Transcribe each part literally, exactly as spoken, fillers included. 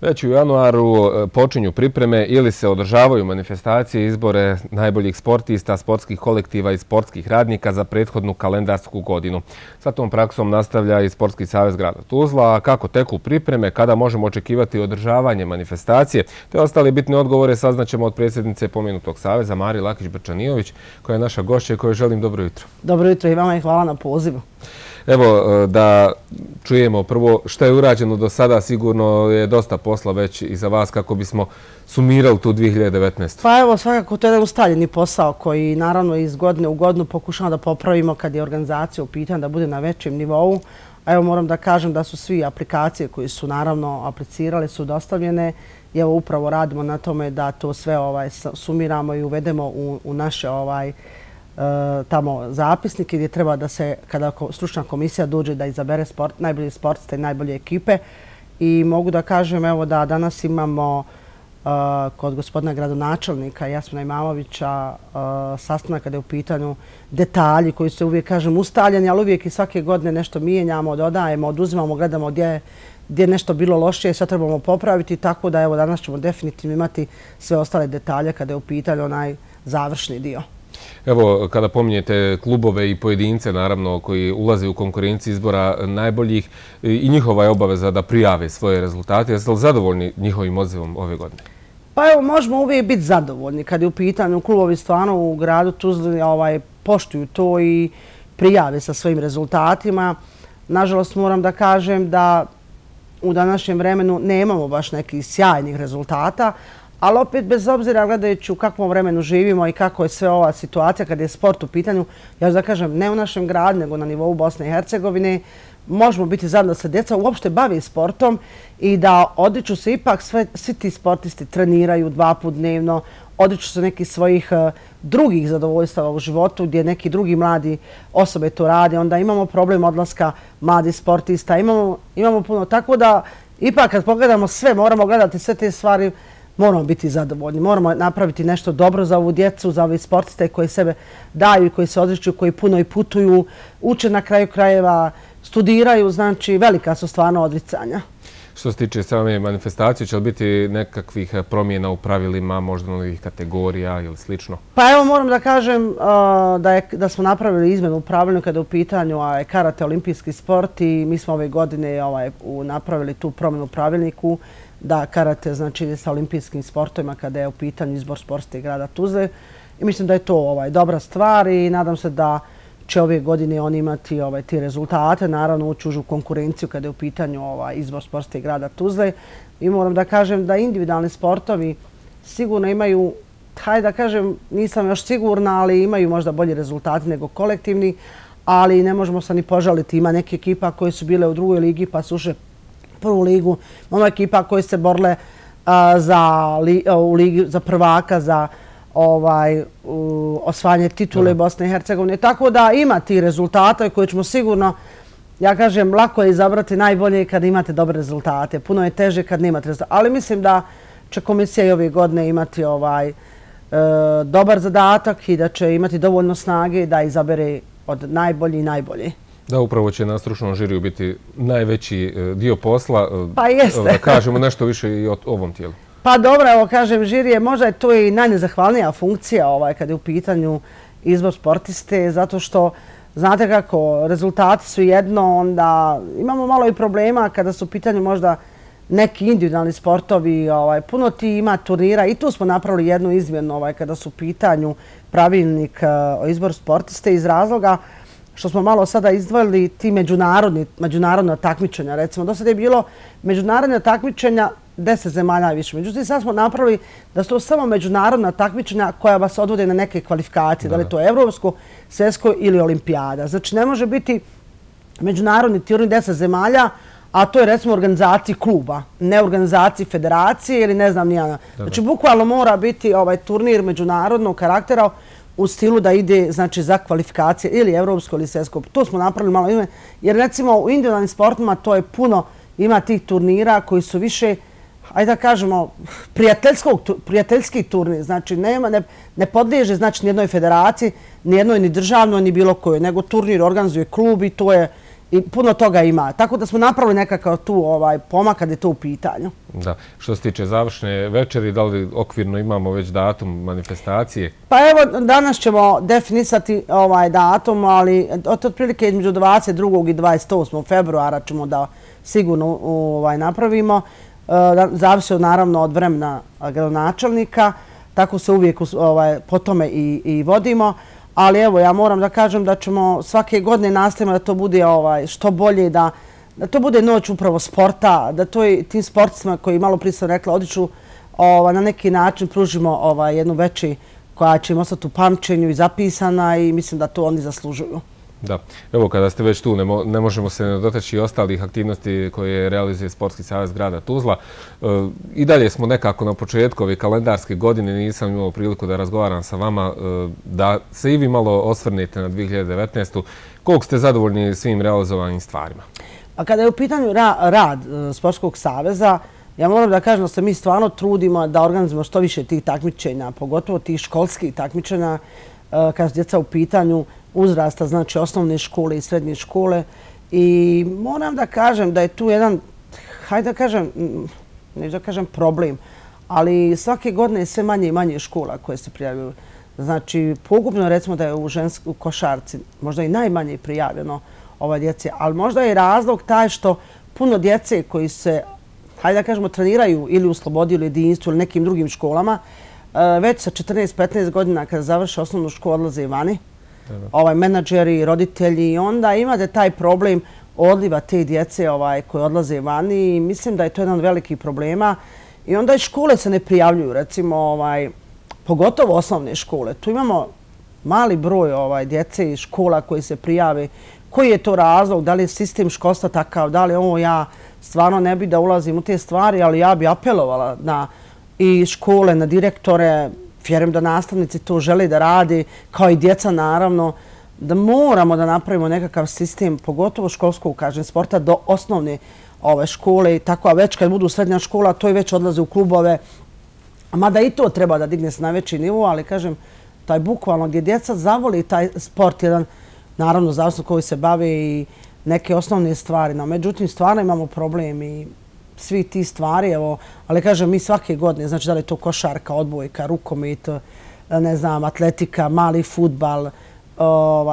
Već u januaru počinju pripreme ili se održavaju manifestacije izbore najboljih sportista, sportskih kolektiva i sportskih radnika za prethodnu kalendarsku godinu. Sa tom praksom nastavlja i Sportski savez grada Tuzla. A kako teku pripreme, kada možemo očekivati održavanje manifestacije, te ostali bitne odgovore saznaćemo od predsjednice pomenutog saveza Marije Lakić-Brčanijović, koja je naša gošća i kojoj želim dobro jutro. Dobro jutro i vama i hvala na pozivu. Evo, da čujemo prvo što je urađeno do sada. Sigurno je dosta posla već i za vas kako bismo sumirali tu dvije hiljade devetnaestu. Pa evo, svakako to je jedan ustaljeni posao koji naravno iz godine u godinu pokušamo da popravimo kad je organizacija u pitanju da bude na većem nivou. A evo moram da kažem da su svi aplikacije koji su naravno aplicirali su dostavljene i evo upravo radimo na tome da to sve ovaj sumiramo i uvedemo u, u naše ovaj tamo zapisnike gdje treba da se, kada stručna komisija dođe da izabere sport, najbolje sportiste i najbolje ekipe. I mogu da kažem evo da danas imamo uh, kod gospodina gradonačelnika Jasmina Imamovića uh, sastanak kada je u pitanju detalji koji su uvijek, kažem, ustaljeni, ali uvijek i svake godine nešto mijenjamo, dodajemo, oduzimamo, gledamo gdje gdje je nešto bilo lošije i sve trebamo popraviti, tako da evo danas ćemo definitivno imati sve ostale detalje kada je u pitanju onaj završni dio. Evo, kada pominjete klubove i pojedince, naravno, koji ulaze u konkurenciji izbora najboljih, i njihova je obaveza da prijave svoje rezultate. Jeste li zadovoljni njihovim odzivom ove godine? Pa evo, možemo uvijek biti zadovoljni kad je u pitanju klubovi stvarno u gradu Tuzli ovaj, poštuju to i prijave sa svojim rezultatima. Nažalost, moram da kažem da u današnjem vremenu nemamo baš nekih sjajnih rezultata, ali opet, bez obzira gledajući u kakvom vremenu živimo i kako je sve ova situacija kad je sport u pitanju, ja ću da kažem, ne u našem gradu, nego na nivou Bosne i Hercegovine, možemo biti zajedno da se djeca uopšte bavi sportom i da odriču se ipak sve, svi ti sportisti treniraju dva put dnevno, odriču se nekih svojih uh, drugih zadovoljstava u životu gdje neki drugi mladi osobe to rade. Onda imamo problem odlaska mladih sportista, imamo, imamo puno. Tako da ipak kad pogledamo sve, moramo gledati sve te stvari, moramo biti zadovoljni, moramo napraviti nešto dobro za ovu djecu, za ove sportiste koji sebe daju i koji se odriču, koji puno i putuju, uče na kraju krajeva, studiraju, znači velika su stvarno odricanja. Što se tiče same manifestacije, će li biti nekakvih promjena u pravilima, možda novih kategorija ili slično? Pa evo moram da kažem uh, da, je, da smo napravili izmjenu u pravilniku kada je u pitanju a, karate olimpijski sport i mi smo ove godine ovaj, u, napravili tu promjenu u pravilniku da karate znači sa olimpijskim sportovima kada je u pitanju izbor sportiste grada Tuzle. I mislim da je to ovaj, dobra stvar i nadam se da će ove godine oni imati ovaj, ti rezultate. Naravno ući u konkurenciju kada je u pitanju ovaj, izbor sportiste grada Tuzle. I moram da kažem da individualni sportovi sigurno imaju, hajde da kažem, nisam još sigurna, ali imaju možda bolji rezultati nego kolektivni, ali ne možemo se ni požaliti. Ima neke ekipa koje su bile u drugoj ligi pa su ušle prvu ligu. Imamo ekipa koje se borile a, za, li, a, u ligi, za prvaka, za ovaj, u, osvajanje titule Bosne i Hercegovine. Tako da ima ti rezultata koje ćemo sigurno, ja kažem, lako je izabrati najbolje kad imate dobre rezultate. Puno je teže kad nemate rezultate. Ali mislim da će komisija i ove godine imati ovaj, e, dobar zadatak i da će imati dovoljno snage da izabere od najbolji i najbolji. Da, upravo će na stručnom žiriju biti najveći dio posla. Pa jeste. Da kažemo nešto više i o ovom tijelu. Pa dobro, evo kažem, žirije, možda je to i najnezahvalnija funkcija ovaj, kad je u pitanju izbor sportiste, zato što, znate kako, rezultati su jedno, onda imamo malo i problema kada su u pitanju možda neki individualni sportovi, ovaj, puno ti ima turnira i tu smo napravili jednu izmjenu ovaj, kada su u pitanju pravilnik uh, o izboru sportiste iz razloga što smo malo sada izdvojili ti međunarodni, međunarodna takmičenja. Recimo, do sada je bilo međunarodna takmičenja deset zemalja više. Međutim, sad smo napravili da su to samo međunarodna takmičenja koja vas odvode na neke kvalifikacije. Da li je to evropsko, svjetsko ili olimpijada. Znači, ne može biti međunarodni turnir deset zemalja, a to je recimo organizaciji kluba, ne organizaciji federacije ili ne znam nijana. Znači, bukvalno mora biti ovaj turnir međunarodnog karaktera u stilu da ide znači, za kvalifikacije ili evropsko ili svjetsko. To smo napravili malo ime, jer recimo u individualnim sportima to je puno, ima tih turnira koji su više, ajde da kažemo, prijateljski turnir. Znači, nema, ne, ne podliježe znači, nijednoj federaciji, nijednoj ni državnoj, ni bilo kojoj, nego turnir organizuje klub i to je i puno toga ima. Tako da smo napravili nekakav tu pomak kad je to u pitanju. Da. Što se tiče završne večeri, da li okvirno imamo već datum manifestacije? Pa evo, danas ćemo definisati ovaj datum, ali otprilike između dvadeset drugog i dvadeset osmog februara ćemo da sigurno napravimo. Zavisi naravno od vremena gradonačelnika, tako se uvijek po tome i vodimo. Ali evo, ja moram da kažem da ćemo svake godine nastavimo da to bude što bolje, da to bude noć upravo sporta, da to i tim sportistima koji malo prije sam rekla odiču na neki način pružimo jednu veći koja će im ostati u pamćenju i zapisana i mislim da to oni zaslužuju. Da. Evo, kada ste već tu, ne možemo se ne dotaći ostalih aktivnosti koje realizuje Sportski savez grada Tuzla. I dalje smo nekako na početku ove kalendarske godine, nisam imao priliku da razgovaram sa vama, da se i vi malo osvrnete na dvije hiljade devetnaestu. Koliko ste zadovoljni svim realizovanim stvarima? A kada je u pitanju rad Sportskog saveza, ja moram da kažem da se mi stvarno trudimo da organizujemo što više tih takmičenja, pogotovo tih školskih takmičenja, kada su djeca u pitanju uzrasta, znači osnovne škole i srednje škole. I moram da kažem da je tu jedan, hajde da kažem, neću da kažem problem, ali svake godine je sve manje i manje škola koje se prijavljaju. Znači, pogubno recimo da je u ženskoj košarci možda i najmanje prijavljeno ova djece, ali možda je razlog taj što puno djece koji se, hajde da kažemo, treniraju ili u Slobodi ili Jedinstvu ili nekim drugim školama, već sa četrnaest petnaest godina kada završe osnovnu školu odlaze vani, menadžeri, roditelji, i onda imate taj problem odliva te djece koje odlaze vani i mislim da je to jedan veliki problema. I onda i škole se ne prijavljuju, recimo, pogotovo osnovne škole. Tu imamo mali broj djece iz škola koji se prijave. Koji je to razlog? Da li je sistem školstva takav? Da li ovo ja stvarno ne bi da ulazim u te stvari, ali ja bi apelovala na i škole, na direktore, vjerujem da nastavnici to žele da radi, kao i djeca naravno, da moramo da napravimo nekakav sistem, pogotovo školskog, kažem, sporta do osnovne škole, tako, a već kad budu srednja škola, to i već odlaze u klubove. Mada i to treba da digne se na veći nivo, ali kažem, taj bukvalno gdje djeca zavoli taj sport, jedan, naravno, zavisno koji se bave i neke osnovne stvari. No, međutim, stvarno imamo problem i svi ti stvari, evo, ali kažem, mi svake godine, znači da li je to košarka, odbojka, rukomet, ne znam, atletika, mali fudbal,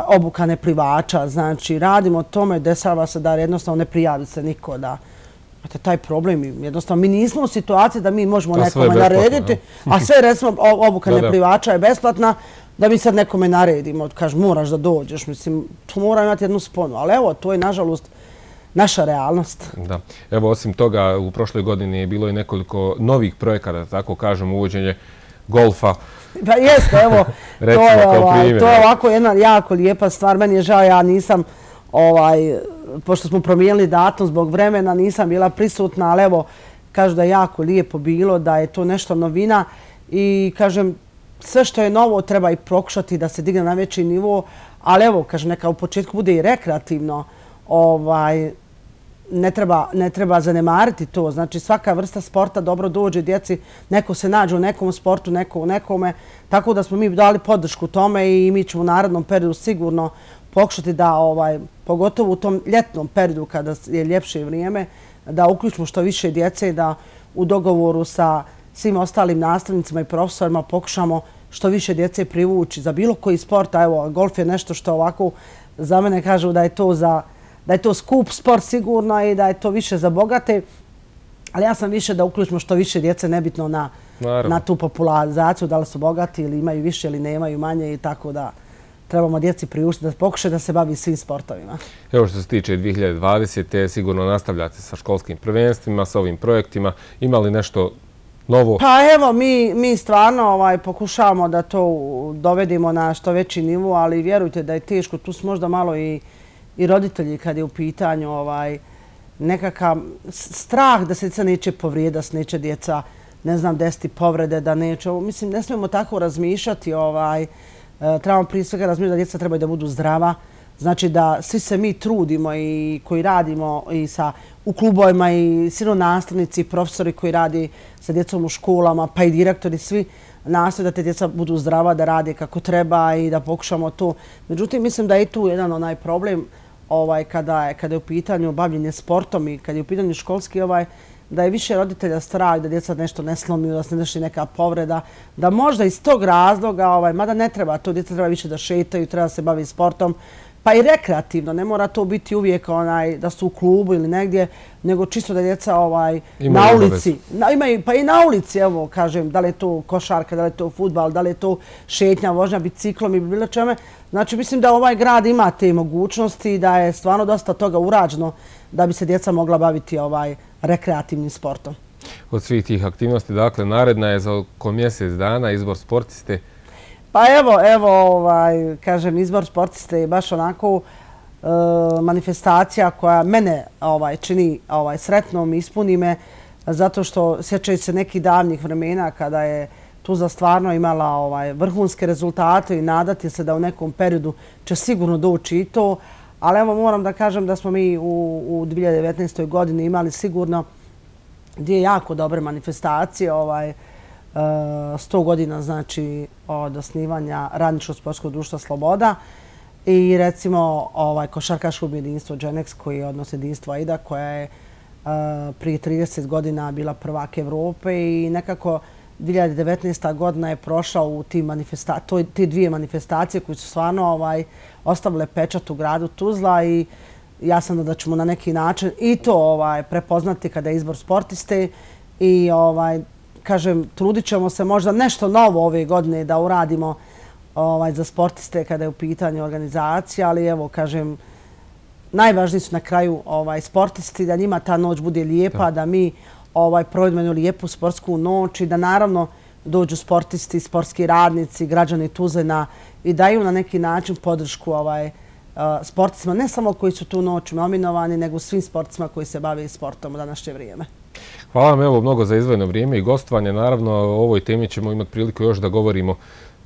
obuka neplivača, znači radimo tome, dešava se da jednostavno ne prijavi se niko da taj problem, jednostavno mi nismo u situaciji da mi možemo nekome narediti, a sve recimo obuka neplivača je besplatna, da mi sad nekome naredimo, kažem, moraš da dođeš, mislim, to mora imati jednu sponu, ali evo, to je nažalost naša realnost. Da. Evo, osim toga, u prošloj godini je bilo i nekoliko novih projekata, tako kažem, uvođenje golfa. Pa jeste, evo, to je ovako jedna jako lijepa stvar. Meni je žao, ja nisam, pošto smo promijenili datum zbog vremena, nisam bila prisutna, ali evo, kažu da je jako lijepo bilo, da je to nešto novina i, kažem, sve što je novo treba i prokušati da se digne na veći nivo, ali evo, kažem, neka u početku bude i rekreativno, ne treba zanemariti to. Znači, svaka vrsta sporta dobro dođe djeci, neko se nađe u nekom sportu, neko u nekome, tako da smo mi dali podršku tome i mi ćemo u narednom periodu sigurno pokušati da, pogotovo u tom ljetnom periodu kada je ljepše vrijeme, da uključimo što više djece i da u dogovoru sa svim ostalim nastavnicima i profesorima pokušamo što više djece privući za bilo koji sport. A evo, golf je nešto što ovako za mene kažu da je to za da je to skup sport sigurno i da je to više za bogate, ali ja sam više da uključimo što više djece, nebitno na, na tu popularizaciju, da li su bogati ili imaju više ili nemaju manje i tako da trebamo djeci priuštiti da pokušaju da se bavi svim sportovima. Evo što se tiče dvije hiljade dvadesete. sigurno nastavljate sa školskim prvenstvima, sa ovim projektima. Ima li nešto novo? Pa evo, mi, mi stvarno ovaj, pokušavamo da to dovedemo na što veći nivo, ali vjerujte da je teško. Tu su možda malo i i roditelji kad je u pitanju ovaj, nekakav strah da se djeca neće povrijedi, da se neće djeca, ne znam, desiti povrede, da neće. Mislim, ne smijemo tako razmišljati. Ovaj, trebamo prije svega razmišljati da djeca trebaju da budu zdrava. Znači da svi se mi trudimo i koji radimo i sa, u klubovima i svi nastavnici i profesori koji radi sa djecom u školama, pa i direktori, svi nastoje da te djeca budu zdrava, da rade kako treba i da pokušamo to. Međutim, mislim da je tu jedan onaj problem kada je u pitanju bavljenje sportom i kada je u pitanju školski, da je više roditelja strah da djeca nešto ne slomiju, da se ne desi neka povreda, da možda iz tog razloga, mada ne treba to, djeca treba više da šetaju, treba da se bavi sportom, pa i rekreativno, ne mora to biti uvijek da su u klubu ili negdje, nego čisto da djeca na ulici, pa i na ulici, evo kažem, da li je to košarka, da li je to fudbal, da li je to šetnja, vožnja biciklom i bilo čeme. Znači, mislim da ovaj grad ima te mogućnosti i da je stvarno dosta toga urađeno da bi se djeca mogla baviti rekreativnim sportom. Od svih tih aktivnosti, dakle, naredna je za oko mjesec dana izbor sportiste. Pa evo, evo, kažem, izbor sportiste je baš onako manifestacija koja mene čini sretnom i ispuni me, zato što sjećaju se nekih davnih vremena kada je Tuzla stvarno imala vrhunske rezultate i nadati se da u nekom periodu će sigurno doći i to. Ali evo moram da kažem da smo mi u dvije hiljade devetnaestoj godini imali sigurno dvije jako dobre manifestacije. sto godina znači od osnivanja Radničkog sportskog društva Sloboda i recimo košarkaškog jedinstvo Dženeks koji je odnos jedinstva AIDA koja je prije trideset godina bila prvak Evrope i nekako dvije hiljade devetnaesta godina je prošla u te dvije manifestacije koje su stvarno ostavile pečat u gradu Tuzla i ja sam da ćemo na neki način i to prepoznati kada je izbor sportiste i kažem, trudit ćemo se možda nešto novo ove godine da uradimo za sportiste kada je u pitanju organizacija, ali evo, kažem, najvažniji su na kraju sportisti, da njima ta noć bude lijepa, da mi provedemo jednu lijepu sportsku noć i da naravno dođu sportisti, sportski radnici, građani Tuzle i daju na neki način podršku sportistima, ne samo koji su tu noć nominovani, nego svim sportistima koji se bave sportom u današnje vrijeme. Hvala vam evo mnogo za izdvojeno vrijeme i gostovanje. Naravno, o ovoj temi ćemo imati priliku još da govorimo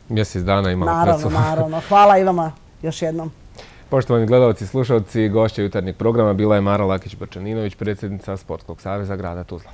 mjesec dana imamo pred sobom. Naravno, naravno. Hvala i vama još jednom. Poštovani gledalci i slušalci, gošća jutarnjeg programa bila je Mara Lakić-Brčaninović, predsjednica Sportskog saveza grada Tuzla.